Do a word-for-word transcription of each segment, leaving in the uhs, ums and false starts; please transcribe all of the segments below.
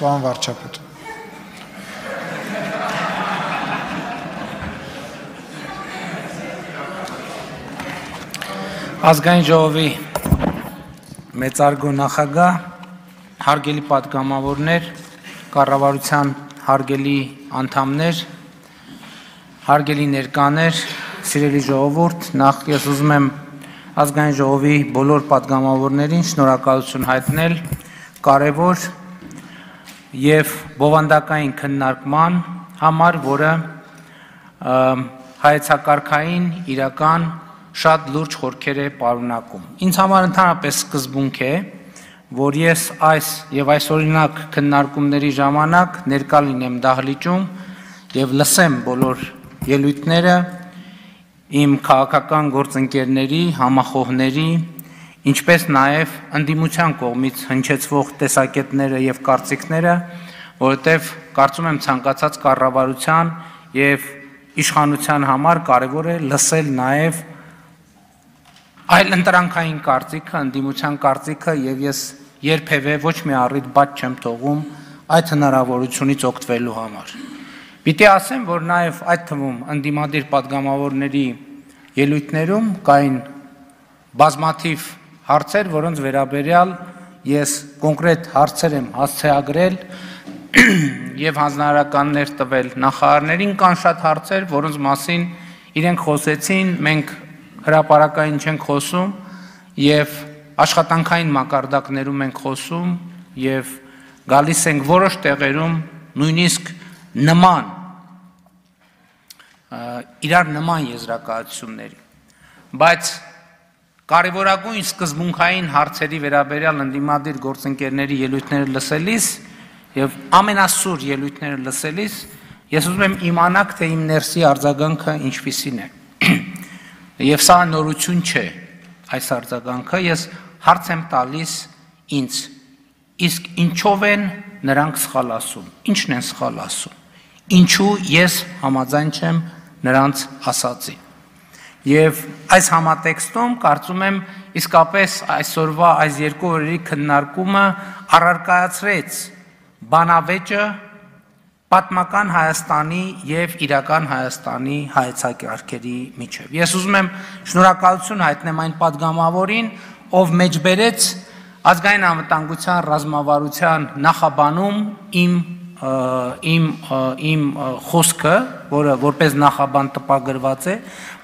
Պարոն վարչապետ։ Ազգային ժողովի մեծարգո նախագահ, հարգելի պատգամավորներ, կառավարության հարգելի անդամներ, հարգելի ներկաներ, սիրելի ժողովուրդ, նախ ես ուզում եմ ազգային ժողովի բոլոր պատգամավորներին շնորհակալություն հայտնել կարևոր և բովանդակային քննարկման համար, որը հայեցակարգային իրական շատ լուրջ խորքեր է պարունակում։ Ինձ համար ընդհանրապես սկզբունք է, որ ես այս և այսօրինակ քննարկումների ժամանակ ներկա լինեմ դահլիճում և լսեմ բոլոր ելույթները իմ քաղաքական գործընկերների, համախոհների, ինչպես նաև ընդդիմության կողմից հնչեցվող տեսակետները և կարծիքները, որովհետև կարծում եմ ցանկացած կառավարության և իշխանության համար կարևոր է լսել նաև այլընտրանքային կարծիքը, ընդդիմության կարծիքը, և ես երբևէ ոչ մի առիթ բաց չեմ թողում այդ հնարավորությունից օգտվելու համար։ Պիտի ասեմ, որ նաև այդ թվում ընդդիմադիր պատգամավորների ելույթներում կային բազմաթիվ հարցեր, որոնց վերաբերյալ ես կոնկրետ հարցեր եմ հասցեագրել և հանձնարարականներ տվել նախարարներին, կան շատ հարցեր, որոնց մասին իրենք խոսեցին, մենք հրապարակային չենք խոսում և աշխատանքային մակարդակներում ենք խոսում և գալիս ենք որոշ տեղերում նույնիսկ նման, իրար նման եզրակացությունների, բայց կարևորագույն սկզբունքային հարցերի վերաբերյալ ընդդիմադիր գործընկերների ելույթները լսելիս և ամենասուր ելույթները լսելիս ես ուզում եմ իմանալ, թե իմ ներսի արձագանքը ինչպիսին է։ Եվ սա նորություն չէ, այս արձագանքը, ես հարց եմ տալիս ինձ, իսկ ինչով են նրանք սխալ ասում, ինչն են սխալ ասում, ինչու ես համաձայն չեմ նրանց ասածին։ Եվ այս համատեքստում կարծում եմ իսկապես այսօրվա այս երկու օրերի քննարկումը առարկայացրեց բանավեճը պատմական Հայաստանի և իրական Հայաստանի հայեցակարգերի միջև։ Ես ուզում եմ շնորհակալություն հայտնեմ այն պատգամավորին, ով մեջբերեց ազգային անվտանգության ռազմավարության նախաբանում իմ իմ իմ խոսքը, որը որպես նախաբան տպագրված է,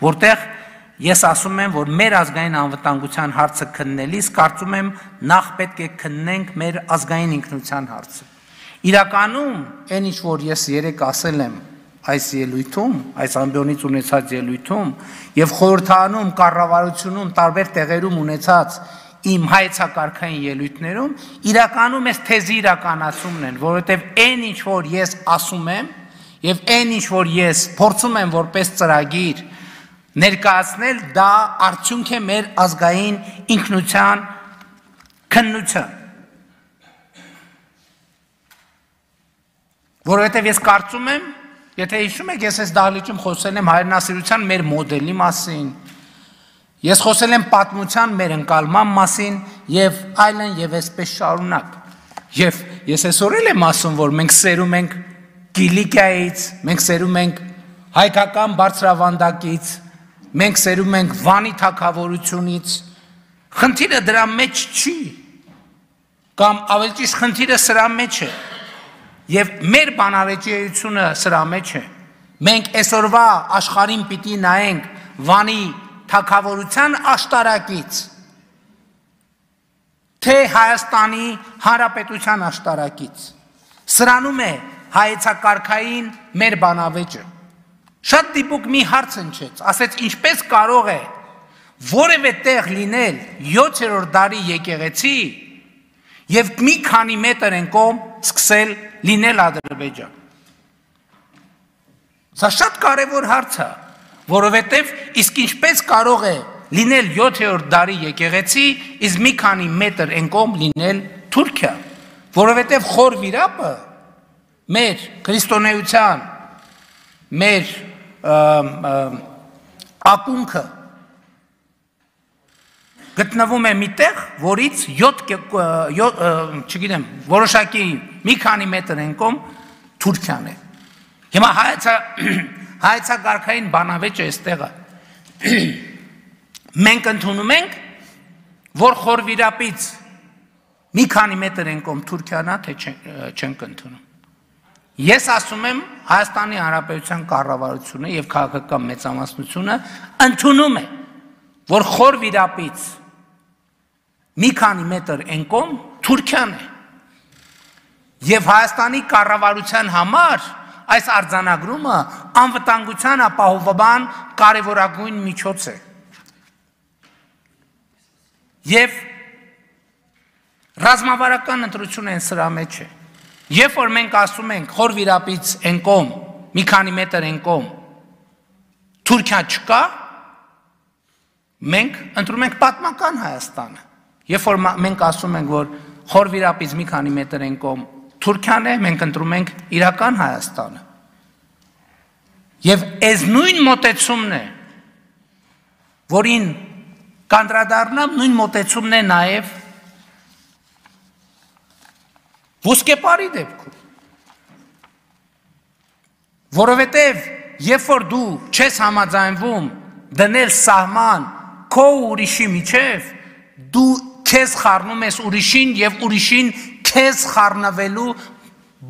որտեղ ես ասում եմ, որ մեր ազգային անվտանգության հարցը քննելիս կարծում եմ նախ պետք է քննենք մեր ազգային ինքնության հարցը։ Իրականում, այն ինչ որ ես երեկ ասել եմ այս ելույթում, այս ամբիոնից ունեցած ելույթում և խորհրդարանում, կառավարությունում, տարբեր տեղերում ունեցած իմ հայեցակարգային ելույթներում, իրականում այս թեզի իրականացումն են, որովհետև այն ինչ որ ես ասում եմ և այն ինչ որ ես փորձում եմ որպես ծրագիր ներկայացնել, դա արդյունք է մեր ազգային ինքնության քննության։ Որովհետև ես կարծում եմ, եթե հիշում եք, ես այս դահլիճում խոսել եմ հայրենասիրության մեր մոդելի մասին, ես խոսել եմ պատմության մեր ընկալման մասին և այլն և այսպես շարունակ։ Եվ ես այսօր էլ եմ ասում, որ մենք սերում ենք Կիլիկիայից, մենք սերում ենք հայկական բարձրավանդակից, մենք սերում ենք Վանի թագավորությունից, խնդիրը դրա մեջ չի, կամ ավելի ճիշտ խնդիրը սրա մեջ է, և մեր բանավեճիությունը սրա մեջ է։ Մենք այսօրվա աշխարհին պիտի նայենք Վանի թագավորության աշտարակից, թե Հայաստանի Հանրապետության աշտարակից, սրանում է հայեցակարգային մեր բանավեճը։ Շատ դիպուկ մի հարց հնչեց, ասեց ինչպես կարող է որևէ տեղ լինել յոթերորդ դարի եկեղեցի և մի քանի մետր են կողմ սկսել լինել Ադրբեջան։ Սա շատ կարևոր հարց է, որովհետև իսկ ինչպես կարող է լինել յոթերորդ դարի եկեղեցի, իսկ մի քանի մետր են կողմ լինել Թուրքիա, որովհետև խոր վիրապը մեր քրիստոնեության, մեր ակունքը գտնվում է մի տեղ, որից յոթ, չգիտեմ, որոշակի մի քանի մետր են կողմ Թուրքիան է։ Հիմա հայացա հայեցակարգային բանավեճը այստեղ է։ Մենք ընդունում ենք, որ խորվիրապից մի քանի մետր են կողմ Թուրքիան է, թե չենք ընդունում։ Ես ասում եմ Հայաստանի Հանրապետության կառավարությունը եւ քաղաքական մեծամասնությունը ընդունում է, որ խորվիրապից մի քանի մետր են կողմ Թուրքիան է։ Եվ Հայաստանի կառավարության համար այս արձանագրումը անվտանգության ապահովման կարևորագույն միջոց է։ Եվ ռազմավարական ընտրություն են սրա մեջ է։ Երբ որ մենք ասում ենք խորվիրապից են կողմ, մի քանի մետր են կողմ, Թուրքիա չկա, մենք ընտրում ենք պատմական Հայաստանը։ Երբ որ մենք ասում ենք, որ խորվիրապից մի քանի մետր են կողմ Թուրքիան է, մենք ընտրում ենք իրական Հայաստանը։ Եվ այս նույն մոտեցումն է, որին կանդրադառնամ, նույն մոտեցումն է նաև ոսկեպարի դեպքում, որովհետև երբ որ դու չես համաձայնվում դնել սահման քո ուրիշի միջև, դու քեզ խառնում ես ուրիշին եւ ուրիշին քեզ խառնվելու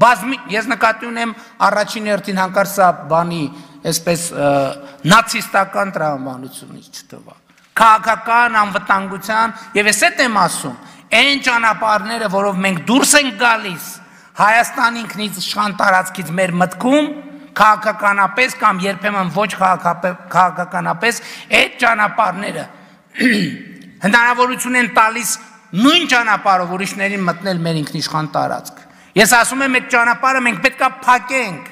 բազմի, ես նկատի ունեմ առաջին հերթին հանկարծ սա բանի, այսպես նացիստական տրամաբանությունից չտվա, քաղաքական անվտանգության եւ ես այդ եմ ասում, այն ճանապարհները, որով մենք դուրս ենք գալիս Հայաստան ինքնից իշխան տարածքից մեր մտքում, քաղաքականապես կամ երբեմն ոչ քաղաքականապես, այդ ճանապարհները հնարավորություն են տալիս նույն ճանապարհով ուրիշներին մտնել մեր ինքնիշխան տարածք։ Ես ասում եմ, այդ ճանապարհը մենք պետք է փակենք։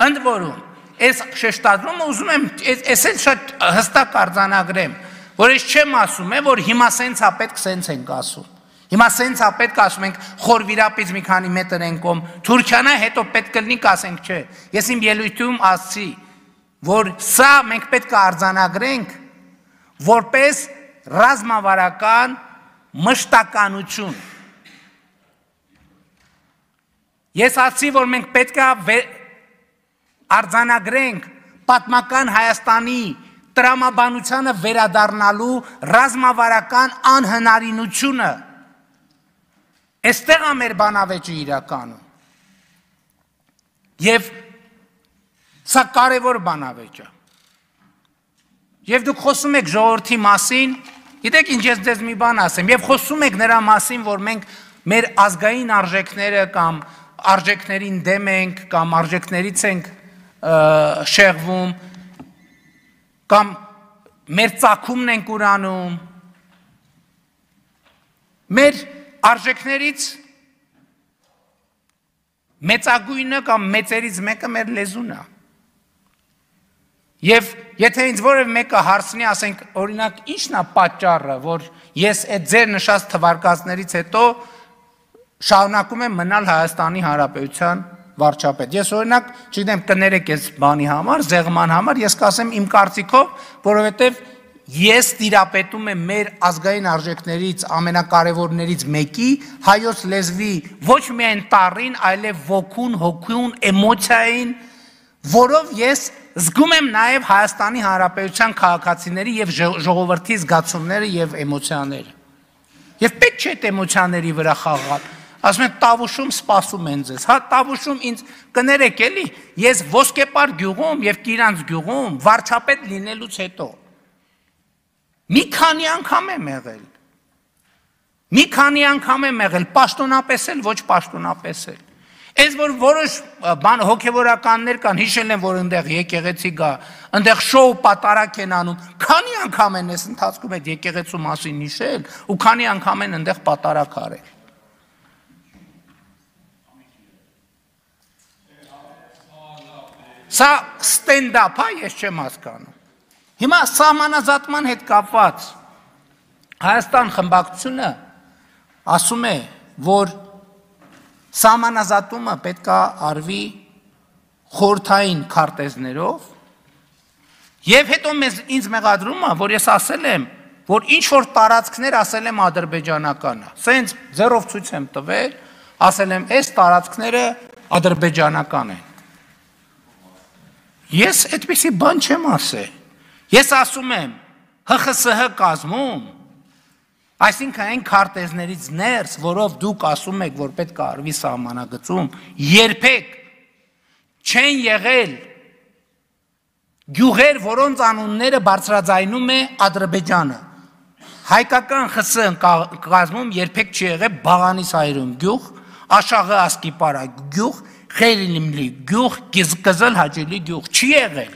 Ընդ որում, այս շեշտադրումը ուզում եմ, այս էլ շատ հստակ արձանագրեմ, որ ես չեմ ասում, որ հիմա սենց է պետք, սենց ենք ասում։ Հիմա սենց է պետք ասում ենք խորվիրապից մի քանի մետր են կողմ Թուրքիան է, հետո պետք կլինի կասենք չէ։ Ես իմ ելույթում ասացի, որ սա մենք պետք է արձանագրենք որպես ռազմավարական մշտականություն։ Ես ասացի, որ մենք պետք է արձանագրենք պատմական Հայաստանի տրամաբանությանը վերադառնալու ռազմավարական անհնարինությունը։ Այստեղ է մեր բանավեճը իրականում։ Եվ սա կարևոր բանավեճ է։ Եվ դուք խոսում եք ժողովրդի մասին, գիտեք ինչ ես ձեզ մի բան ասեմ, եւ խոսում եք նրա մասին, որ մենք մեր ազգային արժեքները կամ արժեքներին դեմ ենք, կամ արժեքներից ենք շեղվում, կամ մեր ծագումն ենք ուրանում, մեր արժեքներից մեծագույնը կամ մեծերից մեկը մեր լեզուն է։ Եվ եթե ինձ որևէ մեկը հարցնի, ասենք, օրինակ, ի՞նչն է պատճառը, որ ես այդ ձեր նշած թվարկածներից հետո շարունակում եմ մնալ Հայաստանի Հանրապետության վարչապետ։ Ես օրինակ, չգիտեմ, կներեք այս բանի համար, զեղման համար, ես կասեմ իմ կարծիքով, որովհետև ես տիրապետում եմ մեր ազգային արժեքներից ամենակարևորներից մեկի, հայոց լեզվի ոչ միայն տառին, այլև ոգուն, հոգուն, էմոցիային, որով ես զգում եմ նաև Հայաստանի Հանրապետության քաղաքացիների եւ ժողովրդի զգացումները եւ էմոցիաները։ Եվ պետք չէ այդ էմոցիաների վրա խաղալ։ Ասում են Տավուշում սպասում են ձեզ։ Հա Տավուշում ինձ կներեք էլի, ես Ոսկեպար գյուղում եւ Կիրանց գյուղում վարչապետ լինելուց հետո մի քանի անգամ եմ եղել։ Մի քանի անգամ եմ եղել, պաշտոնապես էլ, ոչ պաշտոնապես էլ։ Այս որ որոշ բան հոգևորականներ կան, հիշել են, որ այնտեղ եկեղեցի գա, այնտեղ շոու պատարակ են անում, քանի անգամ են այս ընթացքում այդ եկեղեցու մասին հիշել ու քանի անգամ են այնտեղ պատարակ արել։ Սա ստենդափ է, ես չեմ հասկանում։ Հիմա սահմանազատման հետ կապված Հայաստան խմբակցությունը ասում է, որ սահմանազատումը պետք է արվի խորհրդային քարտեզներով եւ հետո մեզ ինձ մեղադրում է, որ ես ասել եմ, որ ինչ որ տարածքներ ասել եմ ադրբեջանական է։ Սենց ձեռով ցույց եմ տվել, ասել եմ, այս տարածքները ադրբեջանական են։ Ես այդպիսի բան չեմ ասել։ Ես ասում եմ, Հ Խ Ս Հ կազմում, այսինքն այն քարտեզներից ներս, որով դուք ասում եք, որ պետք է արվի սահմանագծում, երբեք չեն եղել գյուղեր, որոնց անունները բարձրաձայնում է Ադրբեջանը։ Հայկական Խ Ս կազմում երբեք չի եղել Բաղանիս հայրում գյուղ, Աշաղը Ասկիպարա գյուղ, Խերիլիմլի գյուղ, Կզլ Հաճելի գյուղ, չի եղել։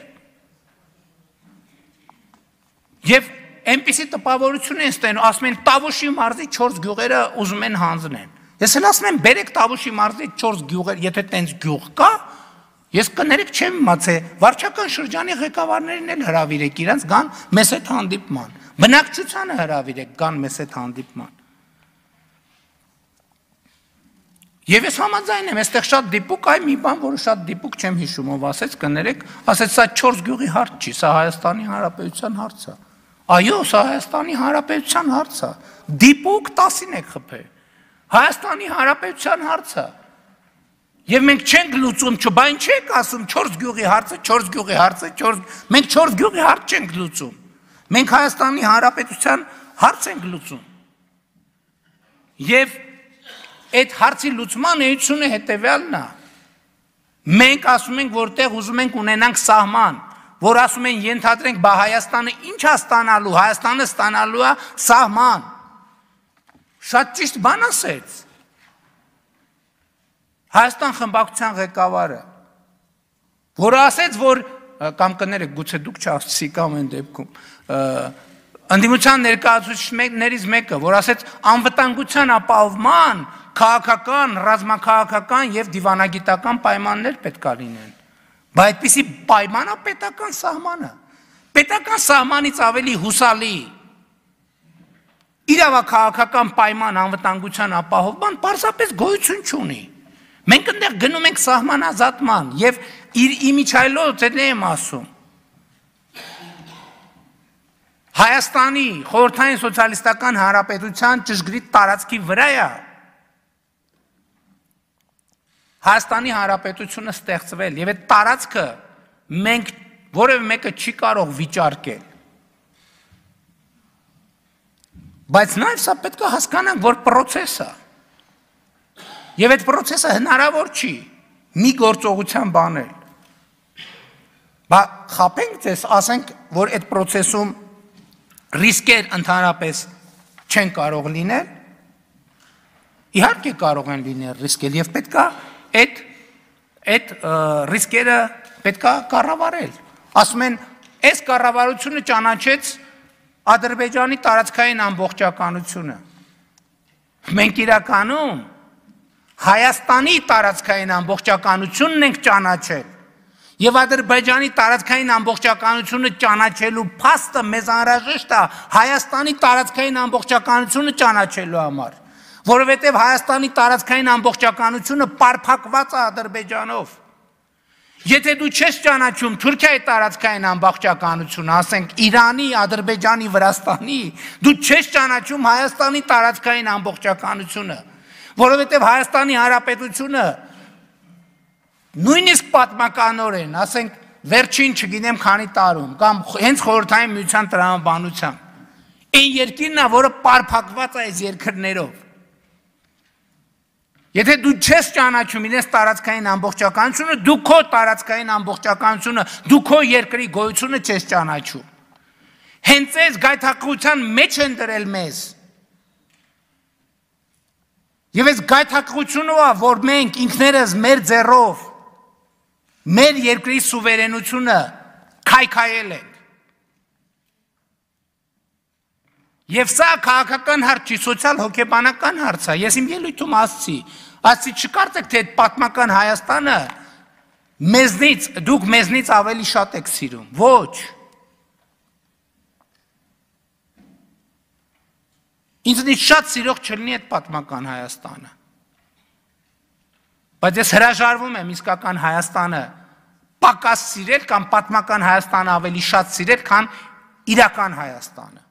Եվ այնպիսի տպավորություն են ստենում, ասում են Տավուշի մարզի չորս գյուղերը ուզում են հանձնեն։ Ես էլ ասում եմ, բերեք Տավուշի մարզի չորս գյուղեր, եթե տենց գյուղ կա, ես կներեք չեմ իմացել, վարչական շրջանի ղեկավարներին էլ հրավիրեք իրենց գան մեզ հետ հանդիպման, բնակչությանը հրավիրեք գան մեզ հետ հանդիպման։ Եվ ես համաձայն եմ, այստեղ շատ դիպուկ, այ մի բան, որը շատ դիպուկ չեմ հիշում, ով ասեց, կներեք, ասեց, սա չորս գյուղի հարց չի, սա Հայաստանի Հանրապետության հարց է։ Այո, սա Հայաստանի Հանրապետության հարց է։ Դիպուկ տասին եք խփել։ Հայաստանի Հանրապետության հարց է։ Եվ մենք չենք լուծում, չբայն չեք ասում չորս գյուղի հարցը, չորս գյուղի հարցը, չորս մենք չորս գյուղի հարց չենք լուծում։ Մենք Հայաստանի Հանրապետության հարց ենք լուծում։ Եվ այդ հարցի լուծման էությունը հետևյալն է։ Մենք ասում ենք, որտեղ ուզում ենք ունենանք սահման, որ ասում են ենթադրենք, բա Հայաստանը ինչ է ստանալու, Հայաստանը ստանալու է սահման։ Շատ ճիշտ բան ասեց Հայաստան խմբակցության ղեկավարը, որը ասեց, որ կամ կներեք, գուցե դուք չասցի կամ այն դեպքում, ընդդիմության ներկայացուցիչներից մեկը, որ ասեց անվտանգության ապահովման քաղաքական, ռազմաքաղաքական եւ դիվանագիտական պայմաններ պետք է լինեն։ Բայց այդպիսի պայմանա պետական սահմանը։ Պետական սահմանից ավելի հուսալի իրավաքաղաքական պայման անվտանգության ապահովման պարզապես գոյություն չունի։ Մենք այնտեղ գնում ենք սահմանազատման եւ իր իմիջայլոց էլ եմ ասում։ Հայաստանի խորհրդային սոցիալիստական հանրապետության ճշգրիտ տարածքի վրա է Հայաստանի Հանրապետությունը ստեղծվել եւ այդ տարածքը մենք որևէ մեկը չի կարող վիճարկել։ Բայց նաեւ սա պետք է հասկանանք, որ process է։ Եվ այդ process-ը հնարավոր չի մի գործողության բանել։ Բա խափենք ձեզ, ասենք, որ այդ process-ում ռիսկեր ընդհանրապես չեն կարող լինել։ Իհարկե կարող են լինել ռիսկեր եւ պետք է այդ այդ ռիսկերը պետք է կառավարել։ Ասում են, այս կառավարությունը ճանաչեց Ադրբեջանի տարածքային ամբողջականությունը։ Մենք իրականում Հայաստանի տարածքային ամբողջականությունն ենք ճանաչել։ Եվ Ադրբեջանի տարածքային ամբողջականությունը ճանաչելու փաստը մեզ անհրաժեշտ է Հայաստանի տարածքային ամբողջականությունը ճանաչելու համար, որովհետև Հայաստանի տարածքային ամբողջականությունը պարփակված է Ադրբեջանով։ Եթե դու չես ճանաչում Թուրքիայի տարածքային ամբողջականությունը, ասենք Իրանի, Ադրբեջանի, Վրաստանի, դու չես ճանաչում Հայաստանի տարածքային ամբողջականությունը, որովհետև Հայաստանի Հանրապետությունը նույնիսկ պատմականորեն, ասենք վերջին չգիտեմ քանի տարում, կամ հենց խորհրդային միության տրամաբանությամբ, այն երկիրն է, որը պարփակված է այս երկրներով։ Եթե դու չես ճանաչում իրենց տարածքային ամբողջականությունը, դու քո տարածքային ամբողջականությունը, դու քո երկրի գոյությունը չես ճանաչում։ Հենց այս գայթակղության մեջ են դրել մեզ։ Եվ այս գայթակղությունը է, որ մենք ինքներս մեր ձեռով մեր երկրի սուվերենությունը քայքայել ենք։ Եվ սա քաղաքական հարց չի, սոցիալ-հոգեբանական հարց է։ Ես իմ ելույթում ասացի, ասացի չկարծեք, թե այդ պատմական Հայաստանը մեզնից, դուք մեզնից ավելի շատ եք սիրում։ Ոչ։ Ինձնից շատ սիրող չլինի այդ պատմական Հայաստանը։ Բայց ես հրաժարվում եմ իսկական Հայաստանը պակաս սիրել կամ պատմական Հայաստանը ավելի շատ սիրել, քան իրական Հայաստանը։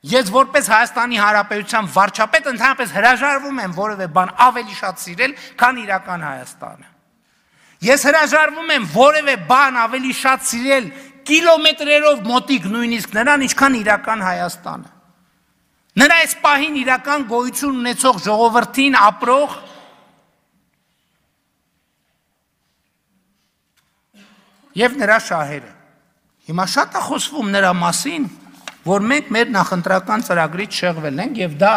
Ես որպես Հայաստանի Հանրապետության վարչապետ ընդհանրապես հրաժարվում եմ որևէ բան ավելի շատ սիրել, քան իրական Հայաստանը։ Ես հրաժարվում եմ որևէ բան ավելի շատ սիրել կիլոմետրերով մոտիկ նույնիսկ նրան, ինչքան իրական Հայաստանը։ Նրա այս պահին իրական գոյություն ունեցող ժողովրդին ապրող եւ նրա շահերը։ Հիմա շատ է խոսվում նրա մասին, որ մենք մեր նախընտրական ծրագրից շեղվել ենք եւ դա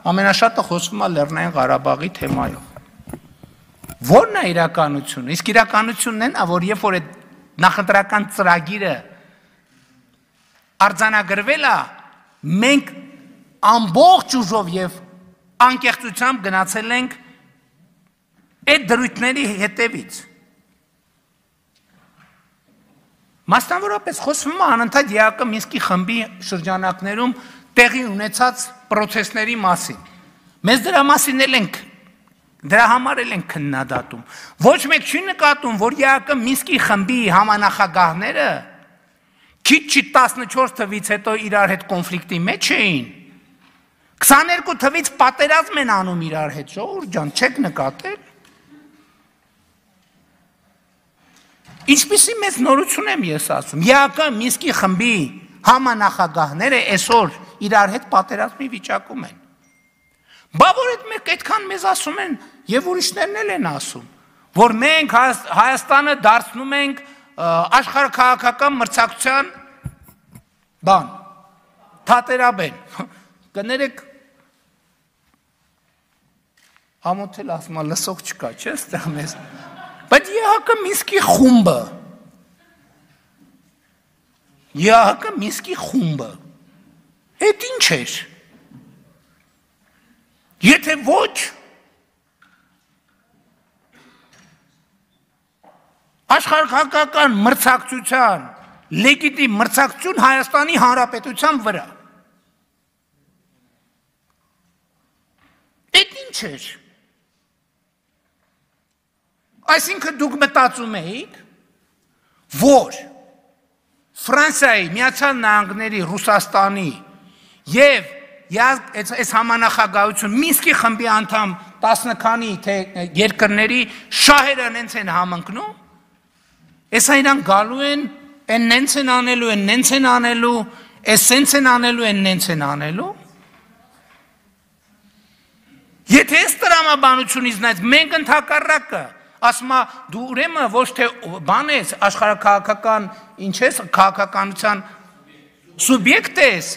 ամենաշատը խոսվում է Լեռնային Ղարաբաղի թեմայով։ Որն է իրականությունը։ Իսկ իրականությունն է, որ երբ որ այդ նախընտրական ծրագիրը արձանագրվել է, մենք ամբողջ ուժով եւ անկեղծությամբ գնացել ենք այդ դրույթների հետևից։ Մասնավորապես խոսվում է անընդհատ ԵԱԿ Մինսկի խմբի շրջանակներում տեղի ունեցած պրոցեսների մասին։ Մեզ դրա մասին էլ ենք, դրա համար էլ ենք քննադատում։ Ոչ մեկ չի նկատում, որ ԵԱԿ Մինսկի խմբի համանախագահները քիչ չի տասնչորս թվից հետո իրար հետ կոնֆլիկտի մեջ էին։ քսաներկու թվից պատերազմ են անում իրար հետ, ժողովուրդ ջան, չեք նկատել։ Ինչպիսի մեծ նորություն եմ ես ասում, ԵԱԿ Մինսկի խմբի համանախագահները այսօր իրար հետ պատերազմի վիճակում են։ Բա որ այդ այդքան մեզ ասում են եւ ուրիշներն էլ են ասում, որ մենք Հայաստանը դարձնում ենք աշխարհաքաղաքական մրցակցության բան, թատերաբեն։ Կներեք ամոթել ասում, լսող չկա, չէ՞, այստեղ մեզ։ Բայց ԵԱՀԿ Մինսկի խումբը, ԵԱՀԿ Մինսկի խումբը, այդ ինչ էր։ Եթե ոչ, աշխարհաքաղաքական մրցակցության, լեգիտիմ մրցակցություն Հայաստանի Հանրապետության վրա։ Այդ ինչ էր։ Այսինքն դուք մտածում էիք, որ Ֆրանսիայի, Միացյալ Նահանգների, Ռուսաստանի եւ այս համանախագահություն Մինսկի խմբի անդամ տասը քանի թե երկրների շահերը նենց են համընկնում, այսա իրանք գալու են, են նենց են անելու, են նենց են անելու, այս սենց են անելու, են նենց են անելու։ Եթե այս տրամաբանությունից նայած, մենք ընդհակառակը ասում է դու ուրեմն ոչ թե բան ես, աշխարհաքաղաքական ինչ ես, քաղաքականության սուբյեկտ ես,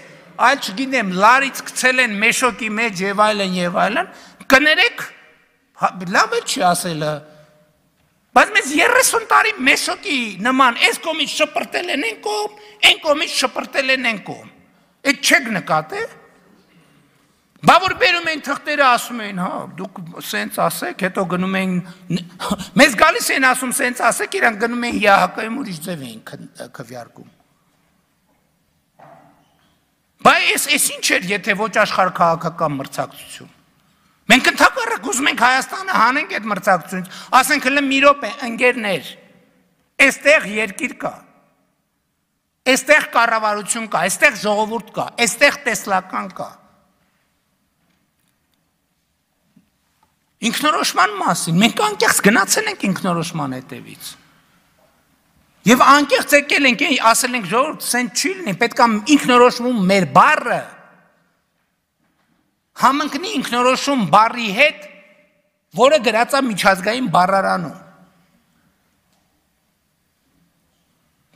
այլ չգիտեմ, լարից գցել են մեշոկի մեջ եւ այլն եւ այլն, կներեք, լավ է չի ասելը, բայց մեզ երեսուն տարի մեշոկի նման այս կողմից շպրտել են են կողմ, այն կողմից շպրտել են են կողմ, այդ չեք նկատել։ Բա որ բերում են թղթերը ասում են, հա, դուք սենց ասեք, հետո գնում են, մեզ գալիս են ասում սենց ասեք, իրանք գնում են ԵԱՀԿ-ում ուրիշ ձև են քվեարկում։ Բա այս ինչ էր, եթե ոչ աշխարհաքաղաքական մրցակցություն։ Մենք ընդհակառակ ուզում ենք Հայաստանը հանենք այդ մրցակցությունից, ասենք հələ մի րոպե, ընկերներ, այստեղ երկիր կա, այստեղ կառավարություն կա, այստեղ ժողովուրդ կա, այստեղ տեսլական կա։ Ինքնորոշման մասին, մենք անկեղծ գնացել ենք ինքնորոշման հետևից։ Եվ անկեղծ եկել ենք, ասել ենք ժողովուրդ, սենց չի լինի, պետք է ինքնորոշում մեր բառը համընկնի ինքնորոշում բառի հետ, որը գրած է միջազգային բառարանում։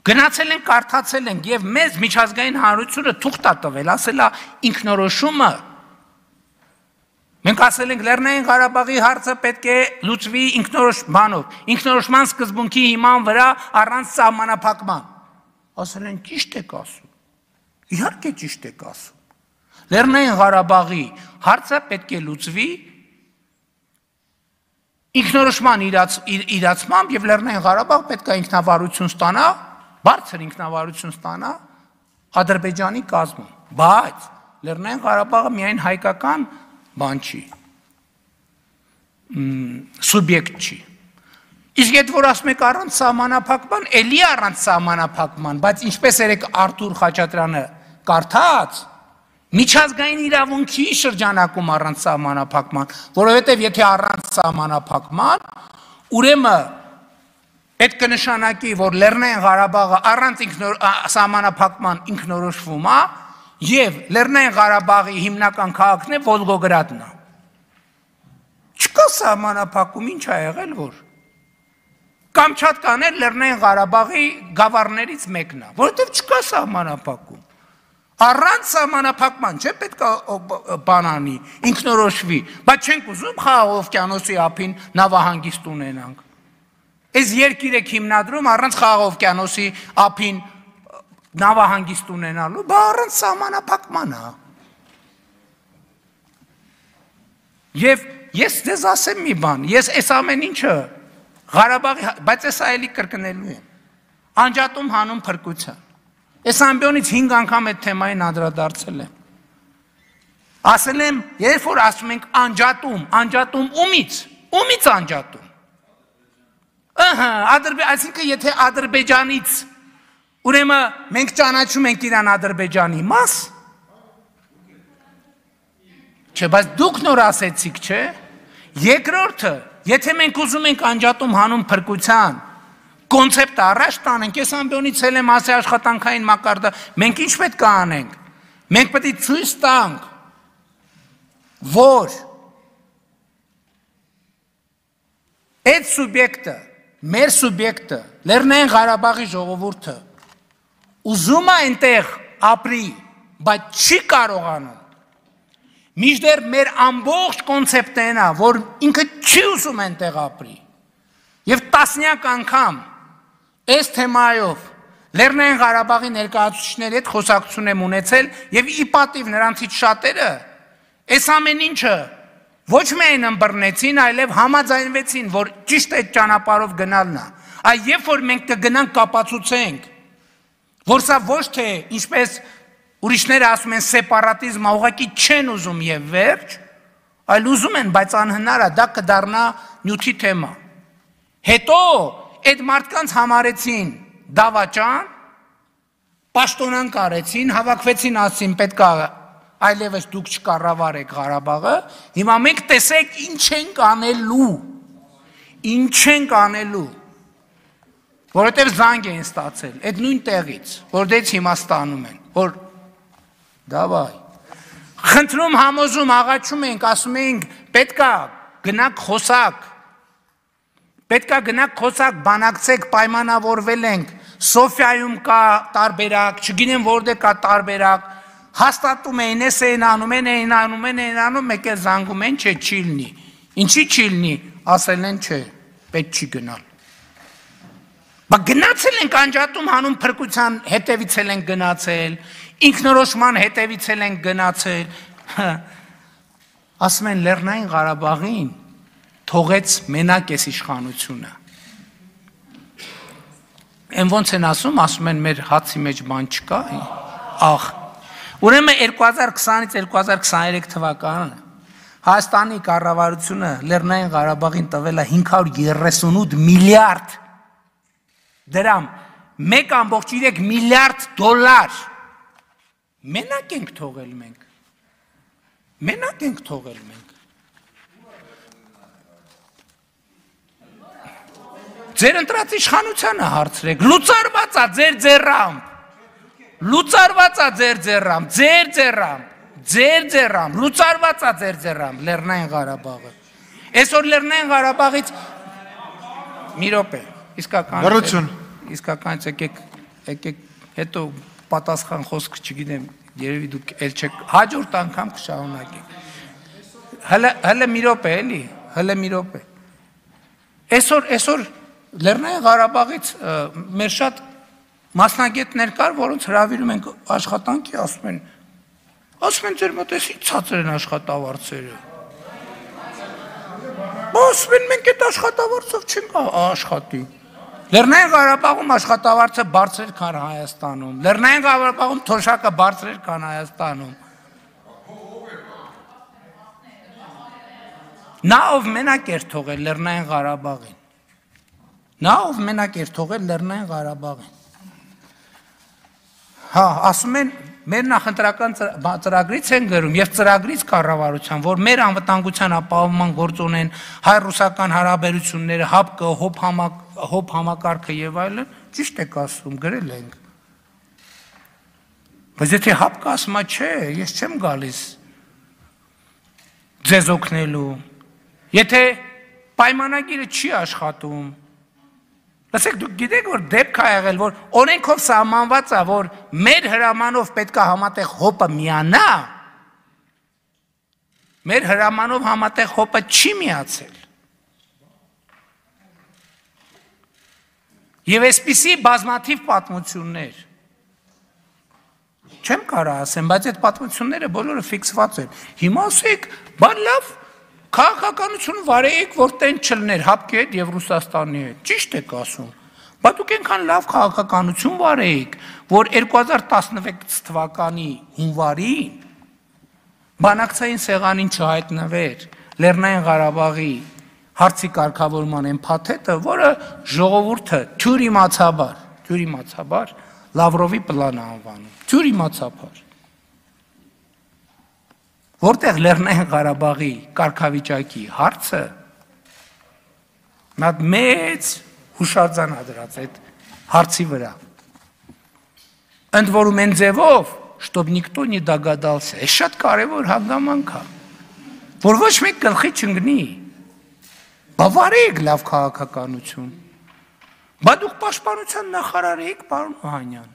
Գնացել ենք, կարդացել ենք եւ մեզ միջազգային հանրությունը թուղթ է տվել, ասել է ինքնորոշումը Մենք ասել ենք Լեռնային Ղարաբաղի հարցը պետք է լուծվի ինքնորոշմանով, ինքնորոշման սկզբունքի հիման վրա առանց սահմանափակման։ Ասել են ճիշտ եք ասում։ Իհարկե ճիշտ եք ասում։ Լեռնային Ղարաբաղի հարցը պետք է լուծվի ինքնորոշման իրացմամբ եւ Լեռնային Ղարաբաղ պետք է ինքնավարություն ստանա, բարձր ինքնավարություն ստանա Ադրբեջանի կազմում։ Բայց Լեռնային Ղարաբաղը միայն հայկական բան չի, սուբյեկտ չի։ Իսկ այդ որ ասում եք առանց սահմանափակման, էլի առանց սահմանափակման, բայց ինչպես երեք Արթուր Խաչատրյանը կարդաց, միջազգային իրավունքի շրջանակում առանց սահմանափակման, որովհետև եթե առանց սահմանափակման, ուրեմն պետք է նշանակի, որ Լեռնային Ղարաբաղը առանց սահմանափակման ինքնորոշվում է եւ Լեռնային Ղարաբաղի հիմնական քաղաքն է Վոլգոգրադն է։ Չկա սահմանափակում, ինչ ա եղել որ Կամչատկան էլ Լեռնային Ղարաբաղի գավառներից մեկն է, որովհետև չկա սահմանափակում։ Առանց սահմանափակման չէ պետք է բանանի, ինքնորոշվի, բայց չենք ուզում Խաղաղ օվկիանոսի ափին նավահանգիստ ունենանք։ Այս երկիր եք հիմնադրում առանց Խաղաղ օվկիանոսի ափին նավահանգիստ ունենալու, բա առանց սահմանափակման է։ Եվ ես ձեզ ասեմ մի բան, ես այս ամեն ինչը Ղարաբաղի, բայց ես այլի կրկնելու եմ, անջատում հանուն փրկության։ Այս ամբյոնից հինգ անգամ այդ թեմային անդրադարձել եմ։ Ասել եմ, երբ որ ասում ենք անջատում, անջատում ումից, ումից անջատում։ Ահա, այսինքն եթե Ադրբեջանից, ուրեմն մենք ճանաչում ենք իրան Ադրբեջանի մաս, չէ, բայց դուք նոր ասեցիք, չէ, երկրորդը, եթե մենք ուզում ենք անջատում հանուն փրկության, կոնցեպտը առաջ տանենք, ես ամբյոնից էլ եմ ասի աշխատանքային մակարդը, մենք ինչ պետք է անենք, մենք պետք է ցույց տանք, որ այդ սուբյեկտը, մեր սուբյեկտը, Լեռնային Ղարաբաղի ժողովուրդը, ուզում է այնտեղ ապրի, բայց չի կարողանում, մինչդեռ մեր ամբողջ կոնցեպտն է, որ ինքը չի ուզում այնտեղ ապրի, եւ տասնյակ անգամ այս թեմայով Լեռնային Ղարաբաղի ներկայացուցիչների հետ խոսակցություն եմ ունեցել եւ ի պատիվ նրանցից շատերը այս ամեն ինչը ոչ միայն ըմբռնեցին, այլև համաձայնվեցին, որ ճիշտ այդ ճանապարհով գնալն է։ Այ երբ որ մենք կգնանք կապացուցենք, որ սա ոչ թե ինչպես ուրիշները ասում են սեպարատիզմ, ուղղակի չեն ուզում եւ վերջ, այլ ուզում են, բայց անհնար է, դա կդառնա նյութի թեմա։ Հետո այդ մարդկանց համարեցին դավաճան, պաշտոնան կարեցին, հավաքվեցին, ասին պետք է այլևս դուք չկառավարեք Ղարաբաղը, հիմա մենք տեսեք ինչ ենք անելու, ինչ ենք անելու, որովհետև զանգ են ստացել, այդ նույն տեղից, որ դից հիմա ստանում են, որ դավայ, խնդրում համոզում, աղաչում ենք, ասում ենք, պետք է գնաք խոսակ, պետք է գնաք խոսակ, բանակցեք, պայմանավորվել ենք, Սոֆիայում կա տարբերակ, չգինեմ որտեղ կա տարբերակ, հաստատում էին, ես էին անում, են էին անում, են էին անում, մեկ էլ զանգում են, չէ, չի լինի, ինչի չի լինի, ասել են, չէ, պետք չի գնալ։ Բա գնացել ենք անջատում հանուն փրկության հետևից էլ ենք գնացել, ինքնորոշման հետևից էլ ենք գնացել, ասում են Լեռնային Ղարաբաղին թողեց մենակ այս իշխանությունը։ Են ոնց են ասում, ասում են մեր հացի մեջ բան չկա, աղ, ուրեմն երկու հազար քսանից երկու հազար քսաներեք թվականը Հայաստանի կառավարությունը Լեռնային Ղարաբաղին տվել է հինգ հարյուր երեսունութ միլիարդ դրամ, մեկ ամբողջ երեք միլիարդ դոլար, մենակ ենք թողել մենք, մենակ ենք թողել մենք, ձեր ընտրած իշխանությանը հարցրեք, լուծարված է ձեր ձեռամբ, լուծարված է ձեր ձեռամբ, ձեր ձեռամբ, ձեր ձեռամբ, լուծարված է ձեր ձեռամբ, Լեռնային Ղարաբաղը, այսօր Լեռնային Ղարաբաղից, մի րոպե, իսկական, իսկականից եկեք, եկեք, հետո պատասխան խոսք չգիտեմ, երևի դուք էլ չեք, հաջորդ անգամ կշարունակեք, հլը մի րոպե, էլի, հլը մի րոպե, այսօր, այսօր, Լեռնային Ղարաբաղից մեր շատ մասնագետներ կար, որոնց հրավիրում ենք աշխատանքի, ասում են, ասում են ձեր մոտ էս ինչ ցածր են աշխատավարձերը։ Ասում են մենք այդ աշխատավարձով չենք աշխատի։ Լեռնային Ղարաբաղում աշխատավարձը բարձր էր, քան Հայաստանում։ Լեռնային Ղարաբաղում թոշակը բարձր էր, քան Հայաստանում։ Նա ով մենակ էր թողել Լեռնային Ղարաբաղին։ Նա ով մենակ էր թողել Լեռնային Ղարաբաղին։ Հա, ասում են, մեր նախընտրական ծրագրից են գրում եւ ծրագրից կառավարության, որ մեր անվտանգության ապահովման գործ ունեն հայ-ռուսական հարաբերությունները, ՀԱՊԿ, ՀՕՊ համակարգը եւ այլն, ճիշտ եք ասում, գրել ենք։ Բայց եթե ՀԱՊԿ ասում է, չէ, ես չեմ գալիս ձեզ օգնելու, եթե պայմանագիրը չի աշխատում, լսեք, դուք գիտեք, որ դեպք է եղել, որ օրենքով սահմանված է, որ մեր հրամանով պետք է համատեղ ՀՕՊ-ը միանա, մեր հրամանով համատեղ ՀՕՊ-ը չի միացել։ Եվ այսպիսի բազմաթիվ պատմություններ, չեմ կարող ասեմ, բայց այդ պատմությունները բոլորը ֆիքսված են։ Հիմա ասեք, բան լավ, քաղաքականություն վարեիք, որ տեն չլներ ՀԱՊԿ-ի հետ եւ Ռուսաստանի հետ, ճիշտ եք ասում, բայց դուք այնքան լավ քաղաքականություն վարեիք, որ երկու հազար տասնվեց թվականի հունվարին բանակցային սեղանին չհայտնվեր Լեռնային Ղարաբաղի հարցի կարգավորման այն փաթեթը, որը ժողովուրդը թյուր իմացաբար, թյուր իմացաբար Լավրովի պլանը անվանում, թյուր իմացաբար, որտեղ Լեռնային Ղարաբաղի կարգավիճակի հարցը նա մեծ հուշարձան ադրած այդ հարցի վրա։ Ընդ որում են ձևով, чтоб никто не догадался, է շատ կարևոր հանգամանք է, որ ոչ մեկ գլխի չընկնի, բավարեք լավ քաղաքականություն, բա դուք պաշտպանության նախարար եք, պարոն Օհանյան,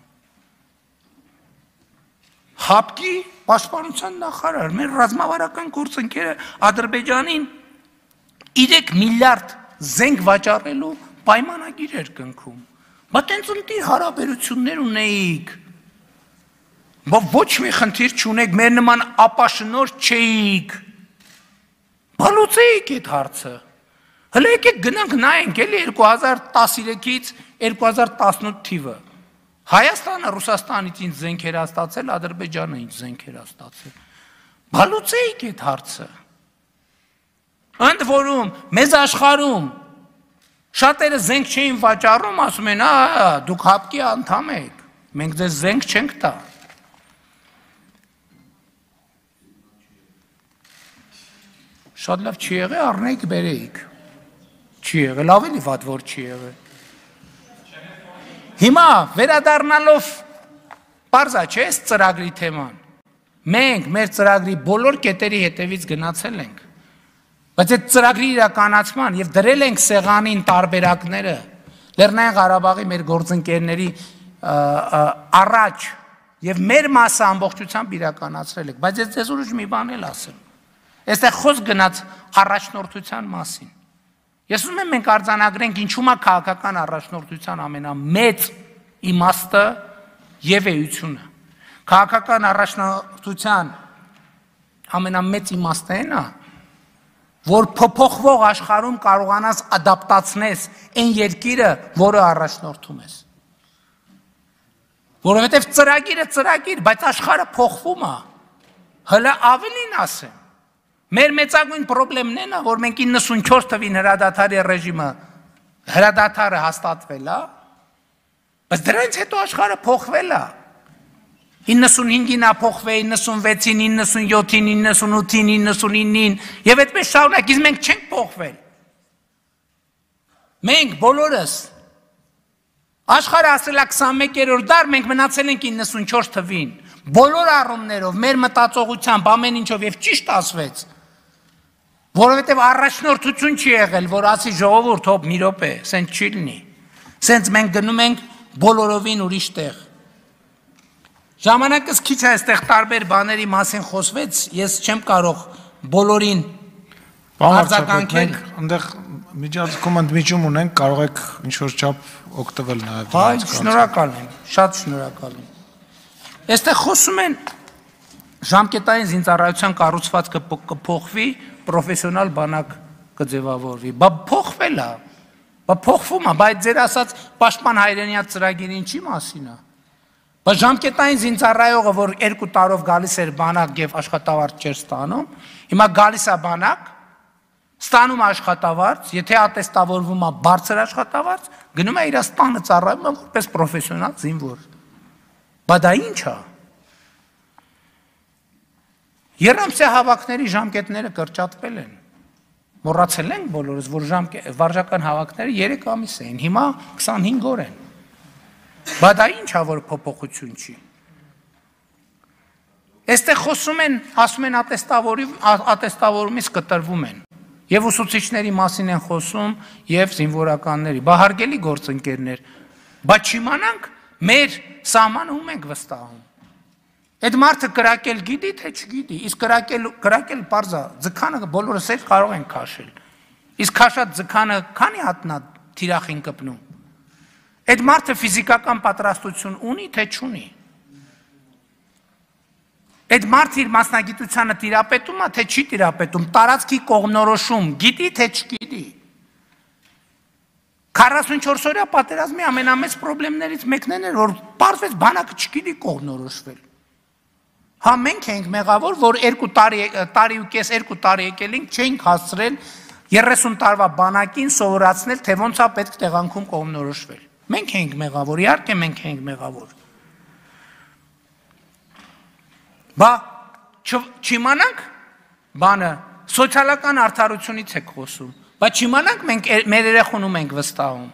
ՀԱՊԿ-ի պաշտպանության նախարար, մեր ռազմավարական գործընկերը Ադրբեջանին երեք միլիարդ զենք վաճառելու պայմանագիր էր կնքում, բա տենց ընտիր հարաբերություններ ունեիք, բա ոչ մի խնդիր չունեք, մեր նման ապաշնոր չէիք, բա լուծեիք այդ հարցը, հլը եկեք գնանք նայենք էլի երկու հազար տասներեքից երկու հազար տասնութ թիվը, Հայաստանը Ռուսաստանից ինչ զենքեր է ստացել, Ադրբեջանը ինչ զենքեր է ստացել, բա լուծեիք այդ հարցը, ընդ որում մեզ աշխարհում շատերը զենք չէին վաճառում, ասում են, ա, դուք ՀԱՊԿ-ի անդամ եք, մենք ձեզ զենք չենք տա։ Շատ լավ չի եղել, առնեիք բերեիք, չի եղել, ավելի վատ որ չի եղել։ Հիմա վերադառնալով պարզա չէ այս ծրագրի թեման, մենք մեր ծրագրի բոլոր կետերի հետևից գնացել ենք, բայց այդ ծրագրի իրականացման եւ դրել ենք սեղանին տարբերակները Լեռնային Ղարաբաղի մեր գործընկերների առաջ եւ մեր մասը ամբողջությամբ իրականացրել ենք, բայց ես ձեզ ուրիշ մի բան էլ ասեմ, այստեղ խոսք գնաց առաջնորդության մասին, ես ուզում եմ մենք արձանագրենք ինչու՞ է քաղաքական առաջնորդության ամենամեծ իմաստը եւ էությունը, քաղաքական առաջնորդության ամենամեծ իմաստը այն է, որ փոփոխվող աշխարհում կարողանաս ադապտացնես այն երկիրը, որը առաջնորդում ես։ Որովհետև ծրագիրը ծրագիր, բայց աշխարհը փոխվում է։ Հələ ավելին ասեմ։ Մեր մեծագույն խնդիրն է, որ մենք իննսունչորս թվին հրադադարի ռեժիմը հրադադարը հաստատվել է, բայց դրանից հետո աշխարհը փոխվել է։ իննսունհինգին փոխվել, իննսունվեցին, իննսունյոթին, իննսունութին, իննսունինին եւ այդպես շարունակ, իսկ մենք չենք փոխվել։ Մենք բոլորս աշխարհը ասել է քսանմեկերորդ դար, մենք մնացել ենք իննսունչորս թվին։ Բոլոր առումներով, մեր մտածողությամբ, ամեն ինչով եւ ճիշտ ասվեց, որովհետեւ առաջնորդություն չի եղել, որ ասի ժողովուրդ, հոп մի րոպե, սենց չի լինի։ Սենց մենք գնում ենք բոլորովին ուրիշ տեղ։ Ժամանակս քիչ է այստեղ տարբեր բաների մասին խոսվեց, ես չեմ կարող բոլորին արձագանքել։ Այնտեղ միջազգում ընդմիջում ունենք, կարող եք ինչ-որ չափ օգտվել նաև։ Հայ, շնորհակալ եմ, շատ շնորհակալ եմ։ Այստեղ խոսում են ժամկետային զինծառայության կառուցվածքը կփոխվի, պրոֆեսիոնալ բանակ կձևավորվի։ Բա փոխվել է, բա փոխվում է, բայց ձեր ասած պաշտպան հայրենիած ծրագիրը ինչի մասին է։ Բա ժամկետային զինծառայողը, որ երկու տարով գալիս էր բանակ եւ աշխատավարձ չէր ստանում, հիմա գալիս է բանակ, ստանում աշխատավարձ, եթե ատեստավորվում է բարձր աշխատավարձ, գնում է իր տանը ծառայում է որպես պրոֆեսիոնալ զինվոր։ Բա դա ի՞նչ է։ Եռամսյա հավաքների ժամկետները կրճատվել են։ Մոռացել ենք բոլորս, որ վարժական հավաքները երեք ամիս էին, հիմա քսանհինգ օր են։ Բա դա ի՞նչ է, որ փոփոխություն չի։ Այստեղ խոսում են, ասում են ատեստավորումից կտրվում են։ Եվ ուսուցիչների մասին են խոսում, եւ զինվորականների։ Բա հարգելի գործընկերներ, բա չիմանանք մեր սահմանը ում ենք վստահում։ Այդ մարդը կրակել գիտի, թե չգիտի, իսկ կրակել կրակել բարձա, ձգանը բոլորս էլ կարող են քաշել։ Իսկ քաշած ձգանը քանի հատնա թիրախին կպնում։ Այդ մարդը ֆիզիկական պատրաստություն ունի, թե չունի։ Այդ մարդը իր մասնագիտությանը տիրապետում է, թե չի տիրապետում, տարածքի կողմնորոշում, գիտի, թե չգիտի։ քառասունչորս օրյա պատերազմի ամենամեծ խնդիրներից մեկն էր, որ պարզվեց բանակը չգիտի կողմնորոշվել։ Հա մենք ենք մեղավոր, որ երկու տարի տարի ու կես երկու տարի եկել ենք, չենք հասցրել երեսուն տարվա բանակին սովորացնել, թե ոնց է պետք տեղանքում կողմնորոշվել։ Մենք ենք մեղավոր, իհարկե մենք ենք մեղավոր։ Բա չիմանանք բանը սոցիալական արդարությունից եք խոսում, բա չիմանանք մենք մեր երեխուն ում ենք վստահում։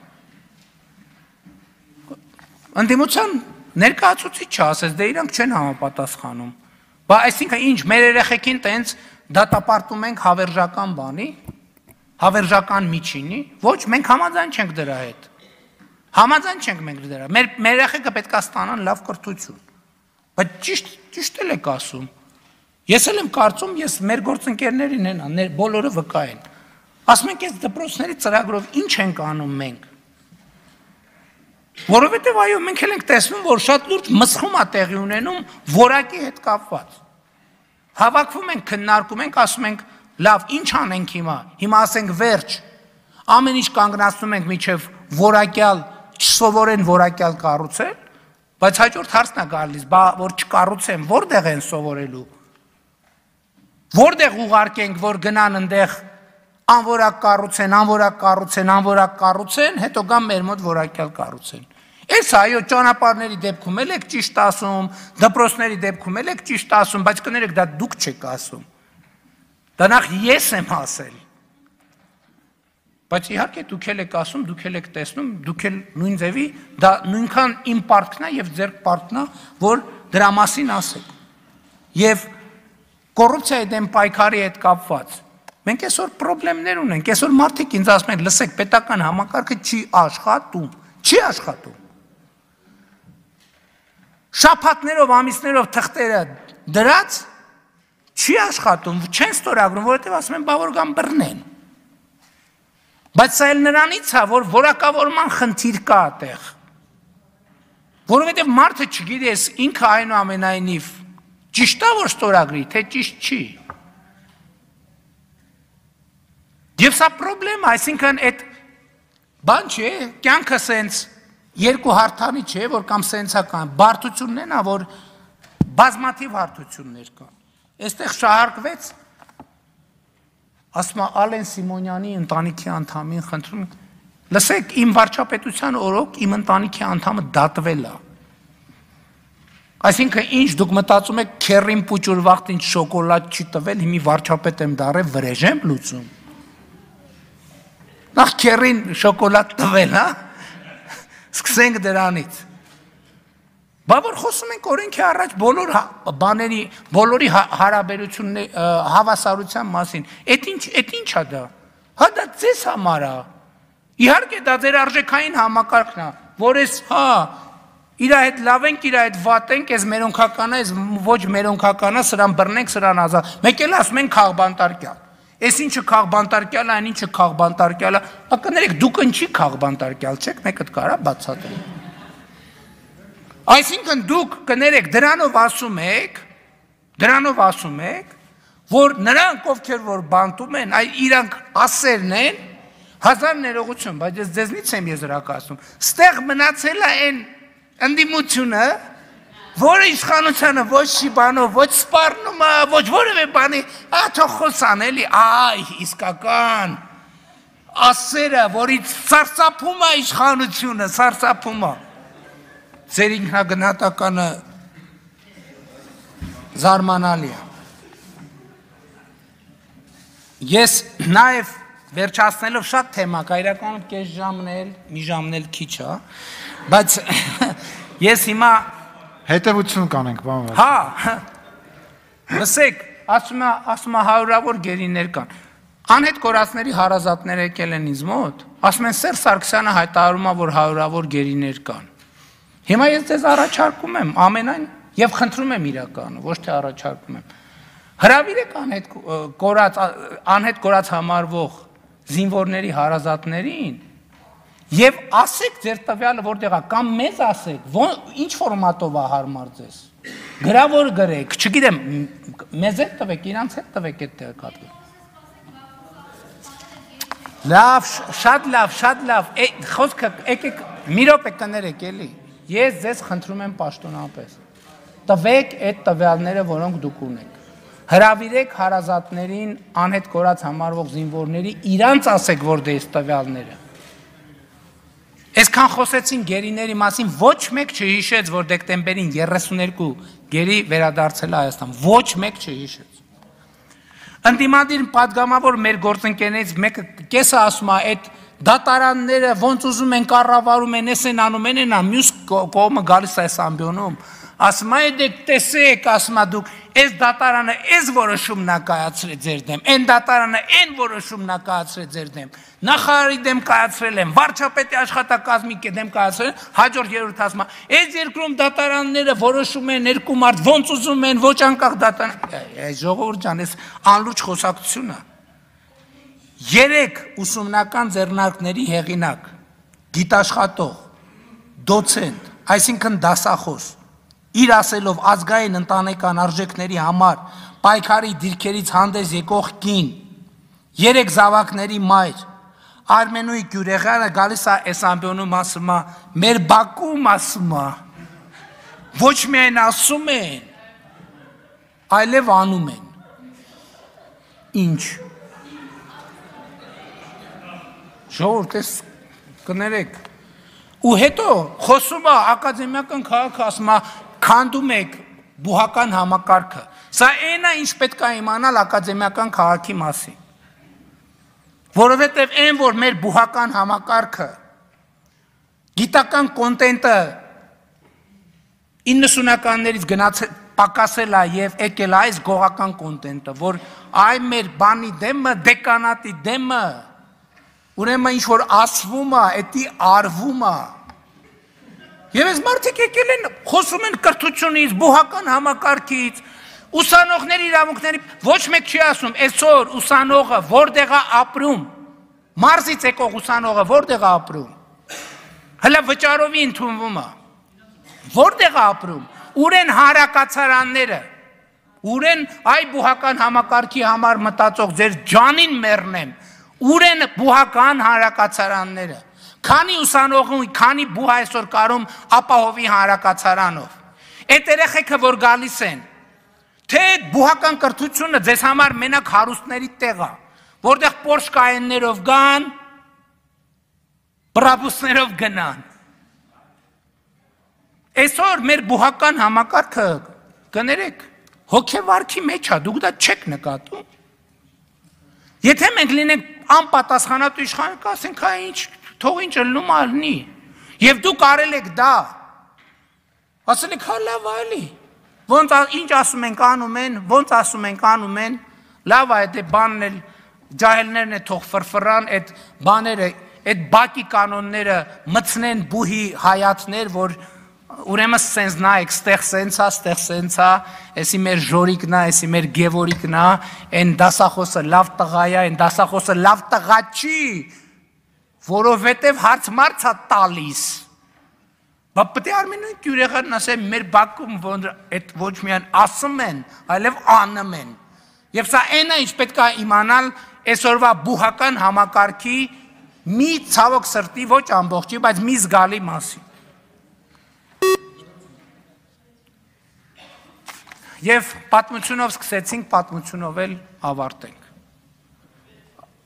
Ընդդիմության ներկայացուցիչը ասես, դե իրանք չեն համապատասխանում։ Բա այսինքն ինչ, մեր երեխեքին տենց դատապարտում ենք հավերժական բանի, հավերժական միջինի, ոչ, մենք համաձայն չենք դրա հետ։ Համաձայն չենք մենք դրա։ Մեր մեր երեխեքը պետք է ստանան լավ կրթություն։ Բայց ճիշտ ճիշտ էլ եք ասում։ Ես էլ եմ կարծում, ես մեր գործընկերներին են, բոլորը վկա են։ Ասում ենք, այս դպրոցների ծրագրով ինչ ենք անում մենք։ Որովհետև այո, մենք էլ ենք տեսնում, որ շատ լուրջ մսխում է տեղի ունենում որակի հետ կապված։ Հավաքվում ենք, քննարկում ենք, ասում ենք, լավ, ինչ անենք հիմա։ Հիմա ասենք վերջ։ Ամեն ինչ կանգնացնում ենք միջև որակյալ, չսովորեն որակյալ կառուցել, բայց հաջորդ հարցն է գալիս, բա որ չկառուցեն, որտեղ են սովորելու։ Որտեղ ուղարկենք, որ գնան այնտեղ անորակ կառուցեն, անորակ կառուցեն, անորակ կառուցեն, հետո գան մեր մոտ որակյալ կառուցեն։ Այս այո, ճանապարհների դեպքում էլ եք ճիշտ ասում, դպրոցների դեպքում էլ եք ճիշտ ասում, բայց կներեք դա դուք չեք ասում։ Դա նախ ես եմ ասել։ Բայց իհարկե դուք էլ եք ասում, դուք էլ եք տեսնում, դուք էլ նույն ձևի, դա նույնքան իմ պարտքն է եւ ձեր պարտքն է, որ դրա մասին ասեք։ Եվ կոռուպցիայի դեմ պայքարի հետ կապված մենք այսօր խնդիրներ ունենք, այսօր մարդիկ ինձ ասում են, լսեք, պետական համակարգը չի աշխատում, չի աշխատում։ Շաբաթներով, ամիսներով թղթերը դրած չի աշխատում, չեն ստորագրում, որովհետև ասում են, բա որ գան բռնեն։ Բայց սա էլ նրանից է, որ որակավորման խնդիր կա այդտեղ։ Որովհետև մարդը չգիտի, ինքը այնուամենայնիվ ճիշտ է, որ ստորագրի, թե ճիշտ չի։ Եվ սա խնդրեմ, այսինքն այդ բան չէ, կյանքը սենց երկու հարթանի չէ, որ կամ սենցա կան, բարդությունն են, որ բազմաթիվ հարթություններ կան։ Այստեղ շահարկվեց, ասում է Ալեն Սիմոնյանի ընտանիքի անդամին խնդրում, լսեք, իմ վարչապետության օրոք իմ ընտանիքի անդամը դատվել է։ Այսինքն ինչ դուք մտածում եք, քերին պուճուր վաղտ ինչ շոկոլադ չի տվել, հիմի վարչապետ եմ դարել, վրեժ եմ լուծում։ Նախ քերին շոկոլադ տվել, հա։ Սկսենք դրանից։ Բա որ խոսում ենք օրենքի առաջ բոլոր բաների, բոլորի հարաբերությունների հավասարության մասին։ Էդ ինչ, էդ ինչ է դա։ Հա դա ձեզ համար է։ Իհարկե դա ձեր արժեքային համակարգն է, որ էս, հա, իր հետ լավ ենք, իր հետ վատ ենք, էս մերոնքական է, էս ոչ մերոնքական է, սրան բռնենք, սրան ազատ։ Մեկ էլ ասում են քաղբանտարկյալ։ Էս ինչը քաղբանտարկյալ է, այն ինչը քաղբանտարկյալ է։ Բա կներեք, դուք ինչի քաղբանտարկյալ չեք, մեկդ կարա բացատրի։ Այսինքն դուք կներեք, դրանով ասում եք, դրանով ասում եք, որ նրանք ովքեր որ բանտում են, այ իրանք ասերն են, հազար ներողություն, բայց ես ձեզնից եմ եզրակացնում, ստեղ մնացել է այն ընդդիմությունը, որը իշխանությանը ոչ չի բանով, ոչ սպառնում է, ոչ որևէ բանի, աթո խոսան էլի, այ իսկական ասերը, որից սարսափում է իշխանությունը, սարսափում է։ Ձեր ինքնագնահատականը զարմանալի է։ Ես նաև վերջացնելով շատ թեմա կա, իրականում կես ժամն էլ, մի ժամն էլ քիչ է, բայց ես հիմա հետևություն կանենք, բան։ Հա, լսեք, ասում է, ասում է հարյուրավոր գերիներ կան։ Անհետ կորածների հարազատներ եկել են ինձ մոտ, ասում են Սերժ Սարգսյանը հայտարարում է, որ հարյուրավոր գերիներ կան։ Հիմա ես ձեզ առաջարկում եմ ամենայն եւ խնդրում եմ իրականը, ոչ թե առաջարկում եմ։ Հրավիրեք անհետ կորած անհետ կորած համարվող զինվորների հարազատներին եւ ասեք ձեր տվյալը որտեղ է կամ մեզ ասեք ինչ ֆորմատով է հարմար ձեզ գրավոր գրեք չգիտեմ մեզ հետ տվեք իրանց հետ տվեք այդ տեղեկատվը լավ շատ լավ շատ լավ խոսքը եկեք մի րոպե կներեք էլի ես ձեզ խնդրում եմ պաշտոնապես տվեք այդ տվյալները որոնք դուք ունեք հրավիրեք հարազատներին անհետ կորած համարվող զինվորների իրանց ասեք որ դες տվյալները Այսքան խոսեցին գերիների մասին ոչ մեկ չհիշեց որ դեկտեմբերին երեսուներկու գերի վերադարձել է Հայաստան ոչ մեկ չհիշեց Ընդդիմադիր падգամավոր մեր գործընկերներից մեկը կեսը ասում է այդ դատարանները ոնց ուզում են կառավարում են էս են անում են նա մյուս կողմը գալիս է այս ամբիոնում ասում է դեք տեսեք ասում է դուք այս դատարանը այս որոշումն է կայացրել ձեր դեմ այն դատարանը այն որոշումն է կայացրել ձեր դեմ նախարարի դեմ կայացրել են վարչապետի աշխատակազմի դեմ կայացրել հաջորդ երրորդ ասում է այս երկրում դատարանները որոշում են երկու մարդ ոնց ուզում են ոչ անկախ դատարան ժողովուրդ ջան այս անլուրջ խոսակցությունը երեք ուսումնական ձեռնարկների հեղինակ գիտաշխատող դոցենտ այսինքն դասախոս իր ասելով ազգային ընտանեկան արժեքների համար պայքարի դիրքերից հանդես եկող կին երեք զավակների մայր Արմենուի Գյուրեղյանը գալիս է այս ամբիոնում ասում է մեր Բաքվում ասում է ոչ միայն ասում են այլև անում են ինչ ժողովուրդ ես կներեք ու հետո խոսում է ակադեմիական քաղաքը ասում է քանդում եք բուհական համակարգը սա այն է ինչ պետք է իմանալ ակադեմիական քաղաքի մասին որովհետև այն որ մեր բուհական համակարգը գիտական կոնտենտը իննսունականներից գնացել պակասել է եւ եկել այս գողական կոնտենտը որ այ մեր բանի դեմը դեկանատի դեմը ուրեմն ինչ որ ասվում է էդի արվում է Եվ այս մարդիկ եկել են խոսում են կրթությունից, բուհական համակարգից, ուսանողների իրավունքների ոչ մեկ չի ասում, այսօր ուսանողը որտեղ է ապրում, մարզից եկող ուսանողը որտեղ է ապրում, հələ վճարովի ընդունվում է, որտեղ է ապրում, ուր են հանրակացարանները, ուր են այ բուհական համակարգի համար մտածող ձեր ջանին մեռնեմ, ուր են բուհական հանրակացարանները Քանի ուսանողում, քանի բուհ այսօր կարում ապահովի հանրակացարանով։ Այդ երեխեքը որ գալիս են, թե բուհական կրթությունը ձեզ համար մենակ հարուստների տեղ է, որտեղ Porsche Cayenne-ներով գան, բրաբուսներով գնան։ Այսօր մեր բուհական համակարգը կներեք, հոգեվարքի մեջ է, դուք դա չեք նկատում։ Եթե մենք լինենք անպատասխանատու իշխան, կասենք, հա ինչ Թող ինչ ելնում ալնի, և դուք արել եք դա, ասել եք հա լավ այլի, ոնց ինչ ասում ենք անում են, ոնց ասում ենք անում են, լավ այդ բանն էլ, ջահելներն է թող ֆրֆրան, այդ բաները, այդ բակի կանոնները մցնեն բուհի հայատներ, որ ուրեմն սենց նայեք, ստեղ սենց է, ստեղ սենց է, էսի մեր ժորիկն է, էսի մեր գևորիկն է, այն դասախոսը լավ տղա է, այն դասախոսը լավ տղա չի, որովհետև հարց մարց է տալիս, բա պտի Արմենուի Գյուրեղյանն ասեմ, մեր Բաքվում ոչ միայն ասում են, այլև անում են, և սա այն է, ինչ պետք է իմանալ այսօրվա բուհական համակարգի մի ցավոք սրտի, ոչ ամբողջի, բայց մի զգալի մասին։ Եվ պատմությունով սկսեցինք, պատմությունով էլ ավարտենք։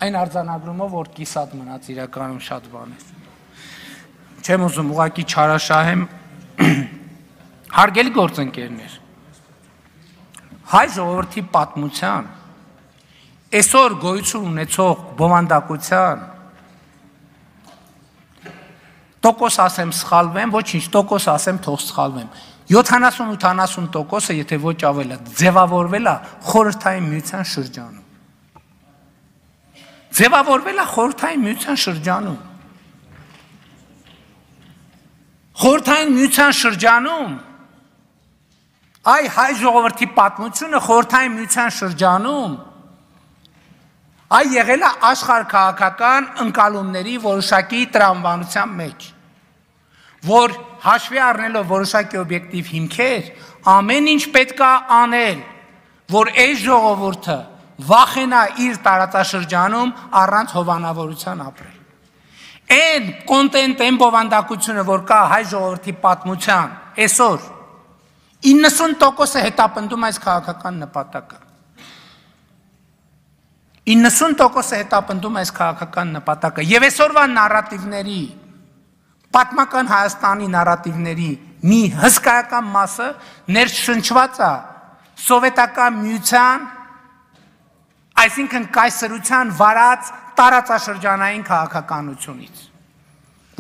Այն արձանագրումով, որ կիսատ մնաց իրականում շատ բան է։ Չեմ ուզում ուղղակի չարաշահեմ հարգելի գործընկերներ։ Հայ ժողովրդի պատմության այսօր գոյություն ունեցող բովանդակության տոկոս ասեմ սխալվեմ, ոչինչ, տոկոս ասեմ թող սխալվեմ։ յոթանասուն ութանասուն տոկոսը, եթե ոչ ավելը, ձևավորվել է խորհրդային միության շրջանում։ Ձևավորվել է խորհրդային միության շրջանում։ Խորհրդային միության շրջանում այ հայ ժողովրդի պատմությունը խորհրդային միության շրջանում այ եղել է աշխարհքաղաքական ընկալումների որոշակի տրամաբանության մեջ, որ հաշվի առնելով որոշակի օբյեկտիվ հիմքեր, ամեն ինչ պետք է անել, որ այս ժողովուրդը վախենա իր տարածաշրջանում առանց հովանավորության ապրել։ Այն կոնտենտ, այն բովանդակությունը, որ կա հայ ժողովրդի պատմության, այսօր իննսուն տոկոսը հետապնդում այս քաղաքական նպատակը։ իննսուն տոկոսը հետապնդում այս քաղաքական նպատակը եւ այսօրվա նարատիվների պատմական Հայաստանի նարատիվների մի հսկայական մասը ներշնչված է սովետական միության, այսինքն կայսրության վարած տարածաշրջանային քաղաքականությունից,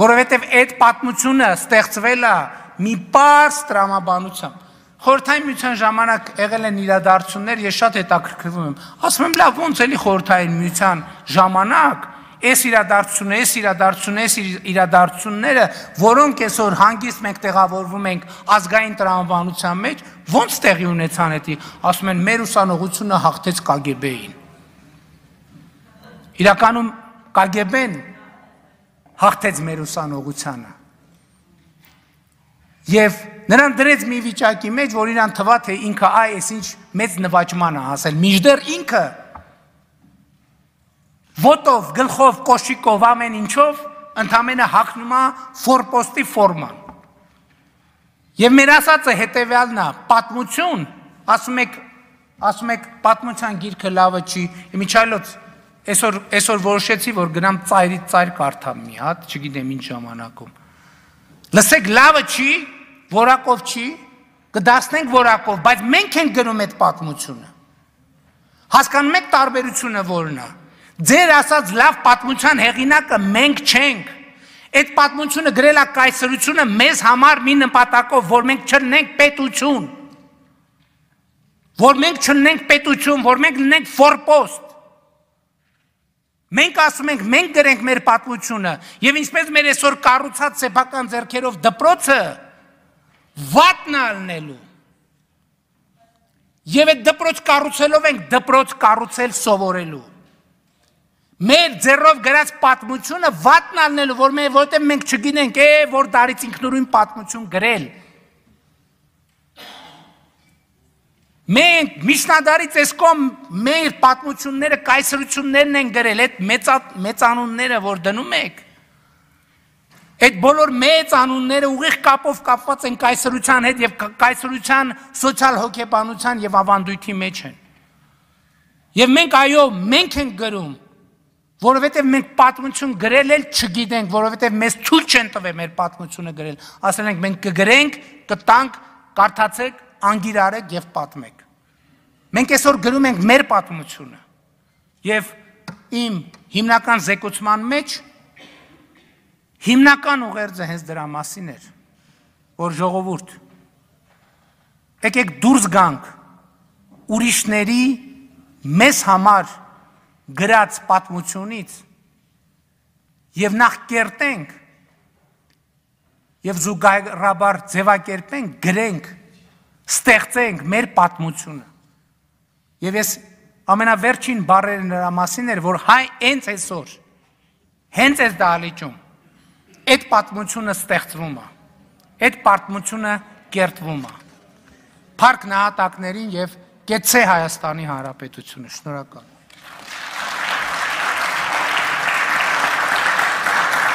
որովհետեւ այդ պատմությունը ստեղծվել է մի պարզ տրամաբանությամբ։ Խորհրդային միության ժամանակ եղել են իրադարձություններ, ես շատ հետաքրքրվում եմ, ասում եմ լավ, ոնց էլի խորհրդային միության ժամանակ այս իրադարձությունը, այս իրադարձությունը, այս իրադարձությունները, որոնք այսօր հանգիստ մենք տեղավորվում ենք ազգային տրամաբանության մեջ, ոնց տեղի ունեցան էդի, ասում են մեր ուսանողությունը հաղթեց Կ Գ B-ին։ Իրականում Կ Գ B-ն հաղթեց մեր ուսանողությանը։ Եվ նրան դրեց մի վիճակի մեջ, որ իրան թվա, թե ինքը այ այսինչ մեծ նվաճման է հասել, մինչդեռ ինքը ոտով, գլխով, կոշիկով, ամեն ինչով ընդամենը հագնում է ֆորպոստի ֆորման։ Եվ մեր ասածը հետևյալն է, պատմություն, ասում եք, ասում եք պատմության գիրքը լավը չի, իմիջայլոց այսօր այսօր որոշեցի, որ գնամ ծայրից ծայր կարդամ մի հատ, չգիտեմ ինչ ժամանակում։ Լսեք, լավը չի, որակով չի, կդասնենք որակով, բայց մենք ենք գնում այդ պատմությունը։ Հասկանում եք տարբերությունը որն է։ Ձեր ասած լավ պատմության հեղինակը մենք չենք։ Այդ պատմությունը գրել է կայսրությունը մեզ համար մի նպատակով, որ մենք չլինենք պետություն։ Որ մենք չլինենք պետություն, որ մենք լինենք ֆորպոստ։ Մենք ասում ենք, մենք գրենք մեր պատմությունը, եւ ինչպես մեր այսօր կառուցած սեփական ձեռքերով դպրոցը վատնա լնելու։ Եվ այդ դպրոց կառուցելով ենք դպրոց կառուցել սովորելու։ Մեր ձեռով գրած պատմությունը վատնա լնելու, որ մենք որտեղ մենք չգինենք, է որ դարից ինքնուրույն պատմություն գրել։ Մենք միջնադարից այս կողմ մեր պատմությունները կայսրություններն են գրել, այդ մեծ անունները, որ դնում եք, այդ բոլոր մեծ անունները ուղիղ կապով կապված են կայսրության հետ եւ կայսրության սոցիալ հոգեբանության եւ ավանդույթի մեջ են։ Եվ մենք այո, մենք ենք գրում, որովհետեւ մենք պատմություն գրել էլ չգիտենք, որովհետեւ մեզ ցույց չեն տվել մեր պատմությունը գրել։ Ասել ենք մենք կգրենք, կտանք, կարդացեք, անգիրարեք եւ պատմեք։ Մենք այսօր գրում ենք մեր պատմությունը եւ իմ հիմնական զեկուցման մեջ հիմնական ուղերձը հենց դրա մասին էր, որ ժողովուրդ եկեք դուրս գանք ուրիշների մեզ համար գրած պատմությունից եւ նախ կերտենք եւ զուգահեռաբար ձևակերպենք, գրենք, ստեղծենք մեր պատմությունը։ Եվ ես ամենավերջին բառերը նրա մասին էր, որ հայ հենց այսօր, հենց այս դահլիճում, այդ պատմությունը ստեղծվում է, այդ պատմությունը կերտվում է։ Փառք նահատակներին եւ կեցցե Հայաստանի Հանրապետությունը, շնորհակալ։